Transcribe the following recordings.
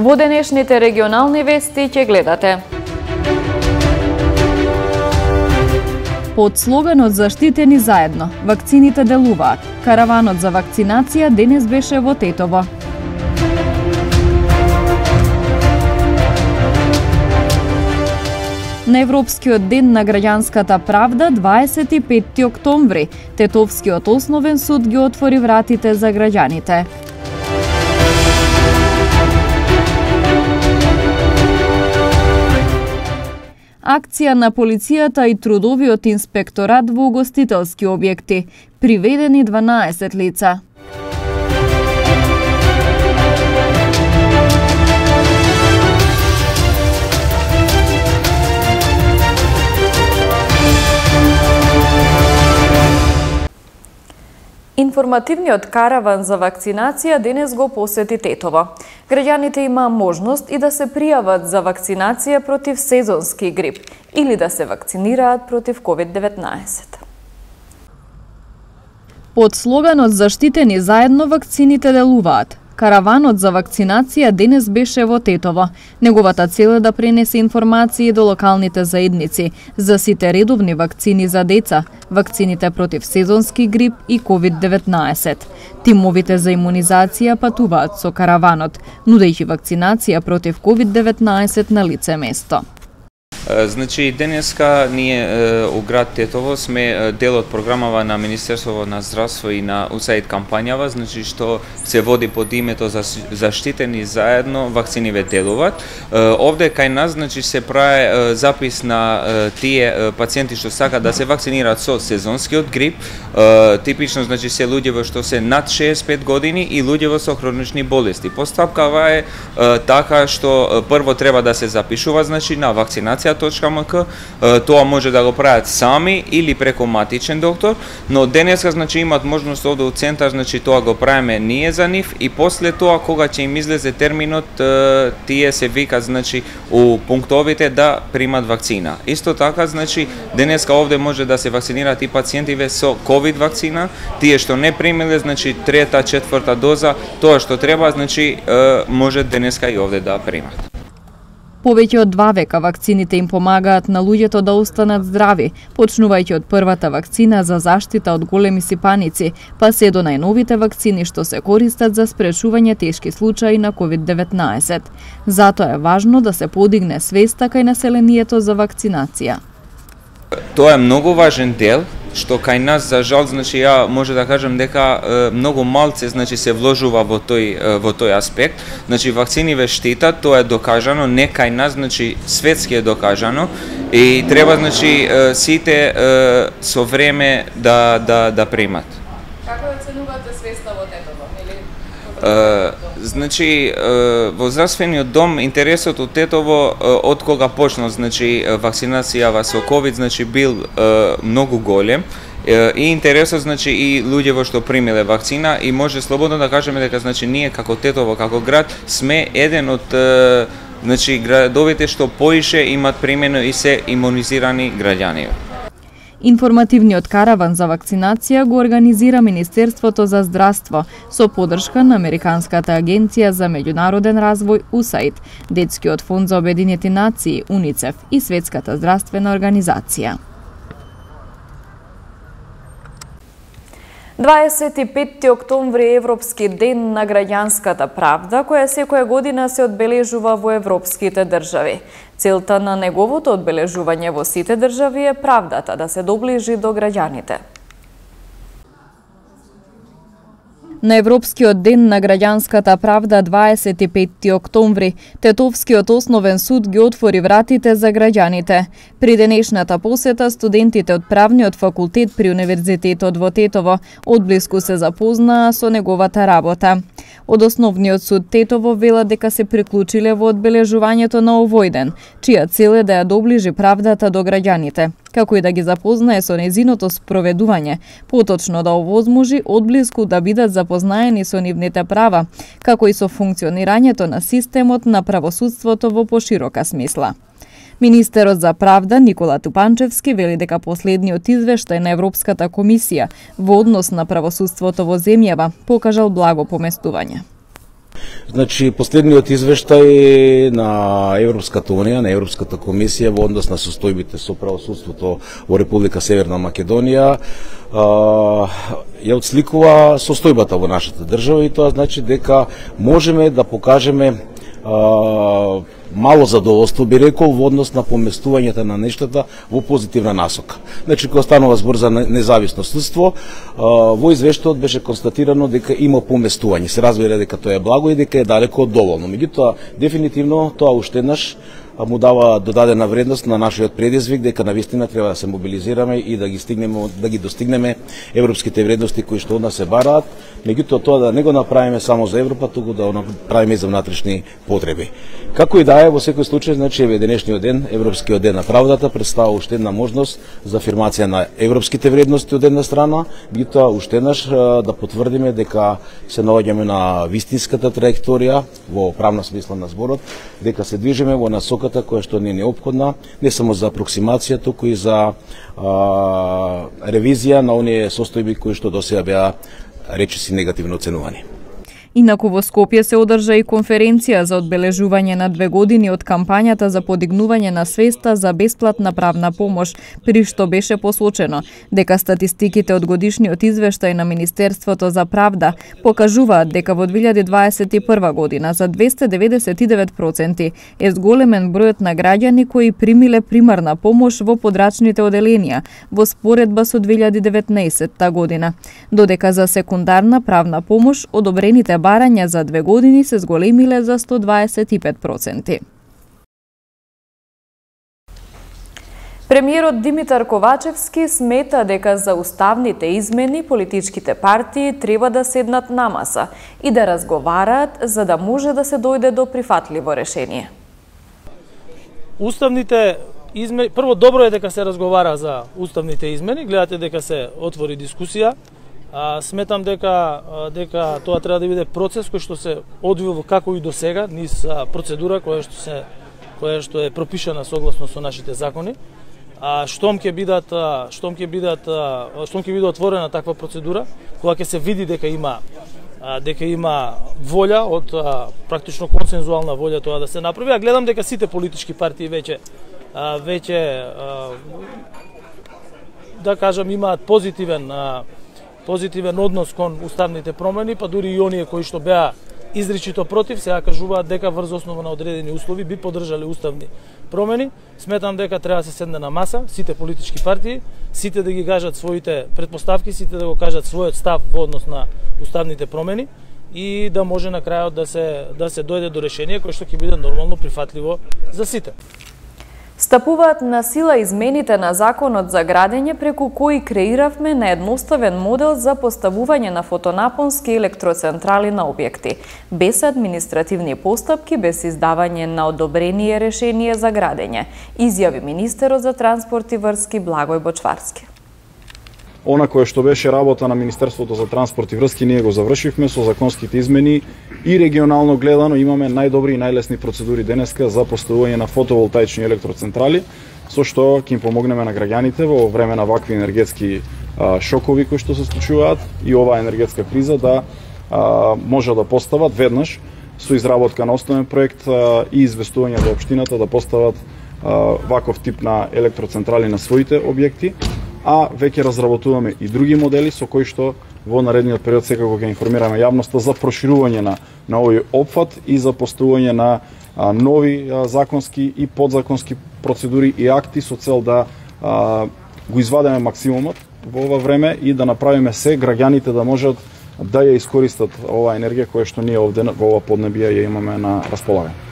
Во денешните регионални вести ќе гледате. Под слоганот "Заштитени заедно", вакцините делуваат. Караванот за вакцинација денес беше во Тетово. На Европскиот ден на граѓанската правда 25 октомври, Тетовскиот основен суд ги отвори вратите за граѓаните. Акција на полицијата и трудовиот инспекторат во угостителски објекти. Приведени 12 лица. Информативниот караван за вакцинација денес го посети Тетово. Граѓаните има можност и да се пријават за вакцинација против сезонски грип или да се вакцинираат против COVID-19. Под слоганот "Заштитени заедно, вакцините делуваат", караванот за вакцинација денес беше во Тетово. Неговата цел е да пренесе информации до локалните заедници за сите редовни вакцини за деца, вакцините против сезонски грип и COVID-19. Тимовите за имунизација патуваат со караванот, нудејќи вакцинација против COVID-19 на лице место. Значи, денеска ние у град Тетово сме дел од програмава на Министерството на здравство и на USAID кампањава, значи што се води под името за "Заштитени заедно, вакцините делуваат". Овде кај нас значи се прави запис на тие пациенти што сакаат да се вакцинираат со сезонскиот грип. Типично значи се луѓе што се над 65 години и луѓе со хронични болести. Постапкава е така што прво треба да се запишува значи на вакцинација.mk, тоа може да го прават сами или преку матичен доктор, но денеска значи имаат можност овде у центар, значи тоа го правиме ние за нив и после тоа кога ќе им излезе терминот, тие се викат значи у пунктовите да примат вакцина. Исто така значи денеска овде може да се вакцинираат и пациентиве со ковид вакцина, тие што не примиле значи трета, четврта доза, тоа што треба значи може денеска и овде да примат. Повеќе од 2 века вакцините им помагаат на луѓето да останат здрави, почнувајќи од првата вакцина за заштита од големи сипаници, па се до најновите вакцини што се користат за спречување тешки случаи на COVID-19. Затоа е важно да се подигне свеста кај населението за вакцинација. Тоа е многу важен дел, што кај нас за жал значи ја може да кажам дека многу малце значи се вложува во тој аспект. Значи вакциниве штитат, тоа е докажано, не кај нас, значи светски е докажано и треба значи сите со време да примат. Како оценувате свеста во Тетово? Значи во здравствениот дом интересот од Тетово од кога почнал значи вакцинацијава со ковид значи бил многу голем и интересот значи и луѓе што примиле вакцина и може слободно да кажеме дека значи ние како Тетово како град сме еден од значи градовите што поише имат примено и се имунизирани граѓани. Информативниот караван за вакцинација го организира Министерството за здравство со поддршка на Американската агенција за меѓународен развој USAID, Детскиот фонд за Обединети нации UNICEF и Светската здравствена организација. 25 октомври е Европски ден на граѓанската правда, која секоја година се одбележува во европските држави. Целта на неговото одбележување во сите држави е правдата да се доближи до граѓаните. На Европскиот ден на граѓанската правда 25 октомври, Тетовскиот основен суд ги отвори вратите за граѓаните. При денешната посета, студентите од правниот факултет при Универзитетот во Тетово одблиску се запознаа со неговата работа. Од Основниот суд Тетово велат дека се приклучиле во одбележувањето на овој ден, чија цел е да ја доближи правдата до граѓаните, како и да ги запознае со незиното спроведување, поточно да овозможи одблиску да бидат запознаени со нивните права, како и со функционирањето на системот на правосудството во поширока смисла. Министерот за правда Никола Тупанчевски вели дека последниот извештај на Европската комисија во однос на правосудството во земјава покажал благо поместување. Значи, последниот извештај на Европската Унија, на Европската комисија во однос на состојбите со правосудството во Република Северна Македонија ја отсликува состојбата во нашата држава и тоа значи дека можеме да покажеме мало задоволство, би рекол, во однос на поместувањето на нештата во позитивна насока. Значи, кога станува збор за независно судство, во извештајот беше констатирано дека има поместување. Се разбира дека тоа е благо и дека е далеко од доволно. Меѓутоа, дефинитивно, тоа уште еднаш му дава додадена вредност на нашиот предизвик дека навистина треба да се мобилизираме и да ги достигнеме европските вредности кои што од нас се бараат, меѓутоа тоа да не го направиме само за Европа, туку да го направиме и за внатрешни потреби. Како и да е, во секој случај, значи еве денешниот ден, Европскиот ден на правдата, представува уште една можност за афирмација на европските вредности од една страна, меѓутоа уште еднаш да потврдиме дека се наоѓаме на вистинската траекторија во правна смисла на зборот, дека се движиме во насока која што не е неопходна, не само за апроксимација, туку и за ревизија на оние состојби кои што досега беа речиси негативно оценувани. Инаку во Скопје се одржа и конференција за одбележување на 2 години од кампањата за подигнување на свеста за бесплатна правна помош, при што беше посочено дека статистиките од годишниот извештај на Министерството за правда покажуваат дека во 2021 година за 299% е зголемен бројот на граѓани кои примиле примарна помош во подрачните оделенија во споредба со 2019 година, додека за секундарна правна помош одобрените барања за 2 години се зголемиле за 125%. Премиерот Димитар Ковачевски смета дека за уставните измени политичките партии треба да седнат на маса и да разговараат за да може да се дојде до прифатливо решение. Уставните измени, прво добро е дека се разговара за уставните измени, гледате дека се отвори дискусија. Сметам дека тоа треба да биде процес кој што се одвива како и до сега, низ процедура која што е пропишана согласно со нашите закони. Штом ќе биде отворена таква процедура, кога ќе се види дека има волја од практично консензуална волја тоа да се направи, а гледам дека сите политички партии веќе да кажам имаат позитивен однос кон уставните промени, па дури и оние кои што беа изричито против, сега кажуваат дека врз основа на одредени услови би поддржале уставни промени. Сметам дека треба да се седне на маса, сите политички партии, сите да ги кажат своите претпоставки, сите да го кажат својот став во однос на уставните промени и да може на крајот да се дојде до решение кое што ќе биде нормално прифатливо за сите. Стапуваат на сила измените на законот за градење преку кои креиравме на едноставен модел за поставување на фотонапонски електроцентрали на објекти, без административни постапки, без издавање на одобрение решение за градење, изјави министерот за транспорт и врски Благој Бочварски. Она кое што беше работа на Министерството за транспорт и врски, ние го завршивме со законските измени и регионално гледано имаме најдобри и најлесни процедури денеска за поставување на фотоволтаични електроцентрали, со што ќе им помогнеме на граѓаните во време на вакви енергетски шокови кои што се случуваат и оваа енергетска криза да може да постават веднаш со изработка на основен проект и известување до општината да постават ваков тип на електроцентрали на своите објекти, а веќе разработуваме и други модели со кои што во наредниот период секако ќе информираме јавноста за проширување на овој опфат и за поставување на нови законски и подзаконски процедури и акти со цел да го извадеме максимумот во ова време и да направиме се граѓаните да можат да ја искористат оваа енергија која што ние овде во ова поднебие ја имаме на располагање.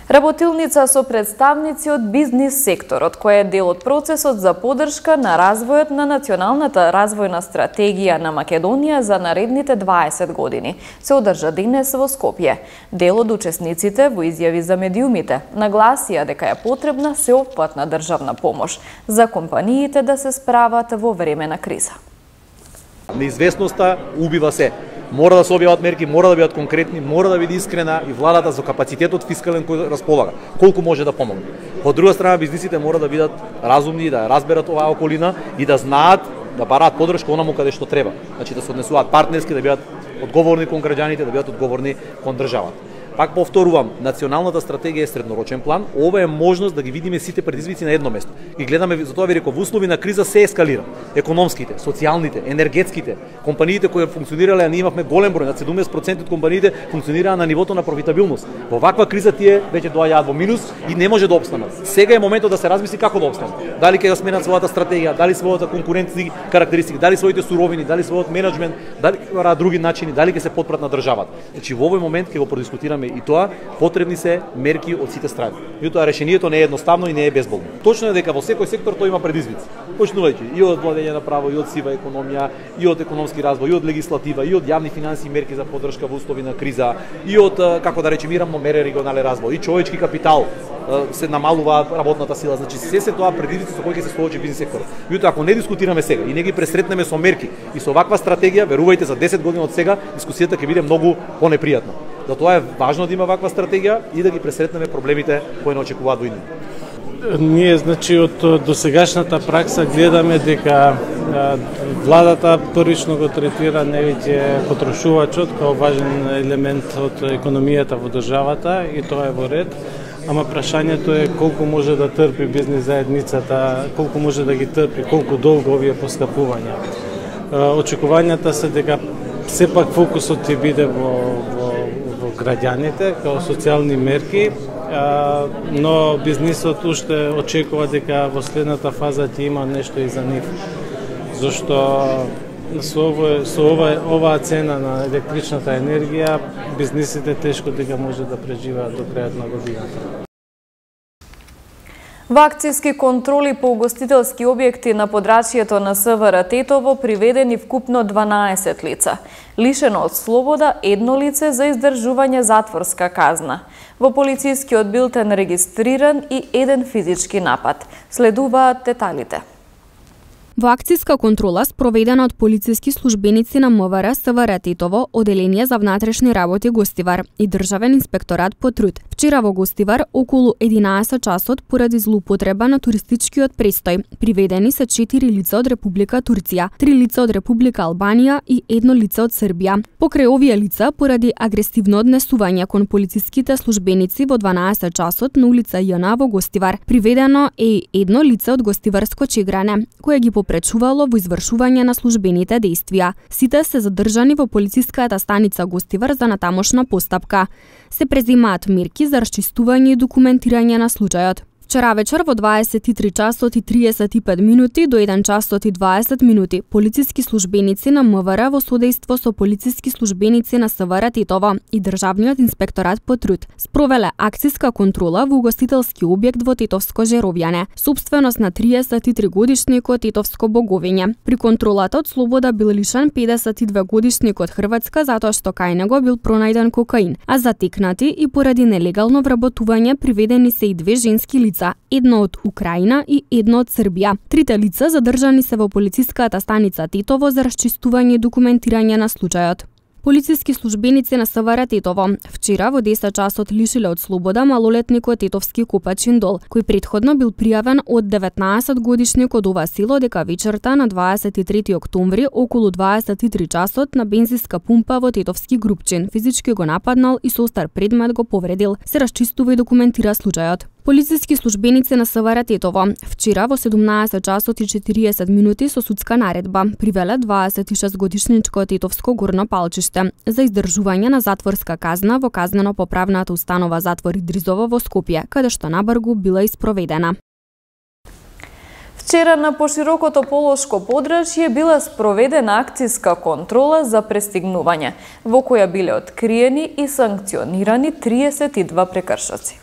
Работилница со представници од бизнис секторот, која е дел од процесот за поддршка на развојот на националната развојна стратегија на Македонија за наредните 20 години, се одржа денес во Скопје. Дел од учесниците во изјави за медиумите нагласија дека е потребна сеопфатна државна помош за компаниите да се справат во време на криза. Неизвестноста убива се. Мора да се објават мерки, мора да бидат конкретни, мора да биде искрена и владата со капацитетот фискален кој располага, колку може да помогне. Од друга страна, бизнисите мора да бидат разумни, да разберат оваа околина и да знаат да бараат поддршка онаму каде што треба. Значи да се однесуваат партнерски, да бидат одговорни кон граѓаните, да бидат одговорни кон државата. Пак повторувам, националната стратегија е среднорочен план. Ова е можност да ги видиме сите предизвици на едно место. Ги гледаме, затоа ви реков, во услови на криза се ескалира. Економските, социјалните, енергетските, компаниите кои функционирале, а ние имавме голем број, над 70% од компаниите функционираа на нивото на профитабилност. Во ваква криза тие веќе доаѓаат во минус и не може да опстанат. Сега е моментот да се размисли како да опстанат. Дали ќе ја сменат својата стратегија, дали својата конкурентни карактеристики, дали своите суровини, дали својот менеджмент, дали ќе други начини, дали ќе се потпрат на државата. Значи во овој момент ќе го продискутираме и тоа, потребни се мерки од сите страни. Меѓутоа решението не е едноставно и не е безболно. Точно е дека во секој сектор тој има предизвици. Почнувајќи и од владење на право, и од сива економија, и од економски развој, и од легислатива, и од јавни финансии, мерки за поддршка во услови на криза, и од како да речеме равномерен регионален развој, и човечки капитал, се намалува работната сила. Значи се тоа предизвици со кои ќе се соочи бизнис сектор. Меѓутоа ако не дискутираме сега и не ги пресретнеме со мерки и со ваква стратегија, верувајте за 10 години од сега дискусијата ќе биде многу понепријатна. Затоа е важно да има ваква стратегија и да ги пресретнеме проблемите кои не очекуваат во иднина. Ние, значи, од досегашната пракса гледаме дека владата првично го третира невиќе потрошувачот како важен елемент од економијата во државата и тоа е во ред. Ама прашањето е колку може да трпи бизнис заедницата, колку може да ги трпи, колку долго овие поскапувања. Очекувањата се дека сепак фокусот ќе биде во граѓаните, како социјални мерки, но бизнисот уште очекува дека во следната фаза ќе има нешто и за нив. Зашто со оваа цена на електричната енергија, бизнисите тешко дека може да преживеат до крајот на годината. Во акцијски контроли по угостителски објекти на подрачјето на СВР Тетово приведени вкупно 12 лица. Лишено од слобода едно лице за издржување затворска казна. Во полицискиот билтен регистриран и еден физички напад. Следуваат деталите. Во акцијска контрола спроведена од полициски службеници на МВР СВР Тетово, Оделение за внатрешни работи Гостивар и Државен инспекторат по труд. Вчера во Гостивар околу 11 часот поради злоупотреба на туристичкиот престој приведени се 4 лица од Република Турција, 3 лица од Република Албанија и едно лице од Србија. Покрај овие лица поради агресивно однесување кон полициските службеници во 12 часот на улица Јана во Гостивар приведено е едно лице од Гостиварско Чегране, кое ги попречувало во извршување на службените дејствија. Сите се задржани во полициската станица Гостивар за натамошна постапка. Се презимаат мерки за расчистување и документирање на случајот. Вчера вечер во 23 часот и 35 минути до 1 часот и 20 минути полициски службеници на МВР во содејство со полициски службеници на СВР Тетово и Државниот инспекторат по труд спровеле акцијска контрола во угостителски објект во Тетовско Жеровјане, собственост на 33 годишникот Тетовско Боговиње. При контролата од слобода бил лишен 52 годишник од Хрватска затоа што кај него бил пронајден кокаин, а затекнати и поради нелегално вработување приведени се и две женски лица, едно од Украина и едно од Србија. Трите лица задржани се во полициската станица Тетово за расчистување и документирање на случајот. Полициски службеници на СВР Тетово вчера во 10 часот лишиле од слобода малолетникот Тетовски Копачин Дол, кој претходно бил пријавен од 19 годишник од ова село дека вечерта на 23 октомври околу 23 часот на бензинска пумпа во Тетовски Групчин физички го нападнал и со остар предмет го повредил. Се расчистува и документира случајот. Полициски службеници на СВР Тетово вчера во 17 часот и 40 минути со судска наредба привеле 26 годишничко Тетовско горно палчиште за издржување на затворска казна во казнено-поправната установа затвор Идризово во Скопје, каде што набргу била испроведена. Вчера на поширокото Полошко подрачје била спроведена акцијска контрола за престигнување, во која биле откриени и санкционирани 32 прекршоци.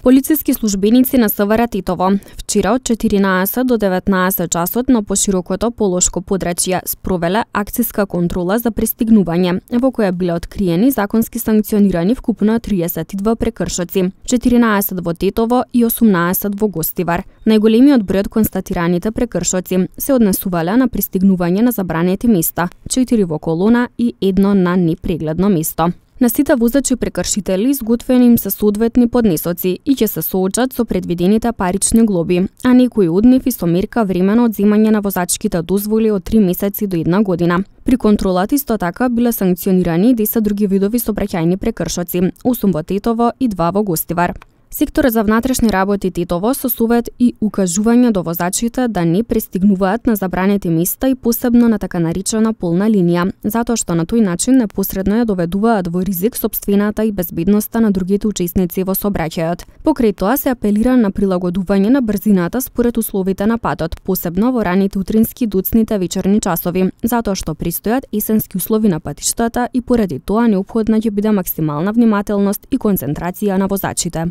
Полициски службеници на СВР Тетово вчера од 14 до 19 часот на поширокото Полошко подрачје спровеле акцијска контрола за престигнување, во која биле откриени законски санкционирани вкупно 32 прекршоци, 14 во Тетово и 18 во Гостивар. Најголемиот број од констатираните прекршоци се однесувале на пристигнување на забранети места, 4 во колона и едно на непрегледно место. На сите возачи прекршители изготвени им се соодветни поднесоци и ќе се соочат со предвидените парични глоби, а некои од нив и со мерка времено одземање на возачките дозволи од 3 месеци до 1 година. При контролата исто така биле санкционирани 10 други видови сообраќајни прекршоци, 8 во Тетово и 2 во Гостивар. Секторот за внатрешни работи Тетово со совет и укажување до возачите да не пристигнуваат на забранети места и посебно на така наречена полна линија, затоа што на тој начин непосредно ја доведуваат во ризик сопствената и безбедноста на другите учесници во сообраќајот. Покрај тоа се апелира на прилагодување на брзината според условите на патот, посебно во раните утрински и доцните вечерни часови, затоа што престојат есенски услови на патиштата и поради тоа неопходна ќе биде максимална внимателност и концентрација на возачите.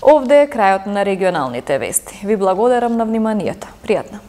Овде е крајот на регионалните вести. Ви благодарам на вниманието. Пријатно.